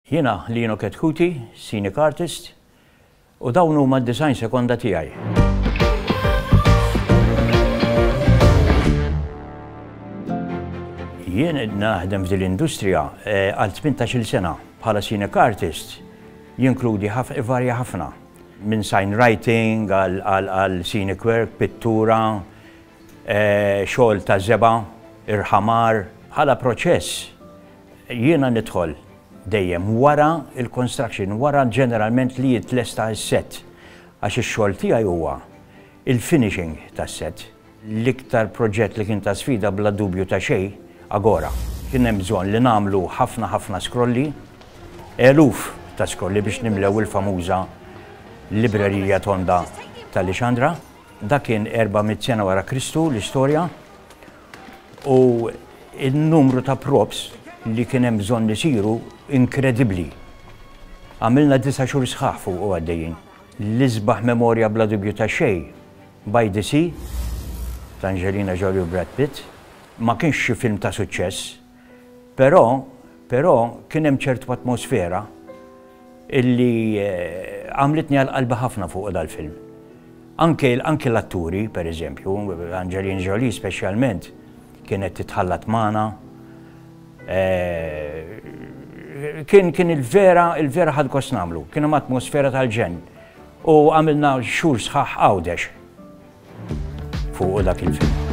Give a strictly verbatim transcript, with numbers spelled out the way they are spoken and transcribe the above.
Jiena Lino Chetcuti, scenic artist, u dawn huma d-disgħin sekonda tiegħi. Jien naħdem f'din l-industrija eh, għal tmintax-il sena bħala scenic artist, jinkludi varja ħafna. Minn sign writing għal scenic work, pittura, eh, xogħol ta' żebgħa, irħamar. Bħala proċess jiena nidħol dejjem wara il-construction, wara ġeneralment li jitlesta s-set. Għax ix-xogħol tiegħi huwa il-finishing tas-set. L-iktar proġett li kien ta' sfida bla dubju ta' xejn, Agora. Kien hemm bżonn li nagħmlu ħafna ħafna skrolli, eluf ta' skrolli biex nimlew il-famuża librerija tonda ta' Lixandra. Dak kien erba' mitt sena wara Kristu l-istorja, u il-numru ta' props li kien hemm bżonn li siru inkredibbli. Għamilna disa' xhur sħaħ fuq u għaddejjin. L-isbaħ memorja bla dubju ta' xejn, By the Sea, ta' Angelina Jolie u Brad Pitt. Ma kienx xi film ta' suċċess, però, però kien hemm ċertu atmosfera illi għamlitni għal qalbi ħafna fuq dal-film. Anke, anke l-atturi, per eżempju, Angelina Jolie speċjalment, kienet titħallat magħna. Kien, kien il-vera, il-vera ħad gost nagħmlu, kien hemm atmosfera tal-ġenn. U għamilna xhur sħaħ Għawdex fuq dak il-film.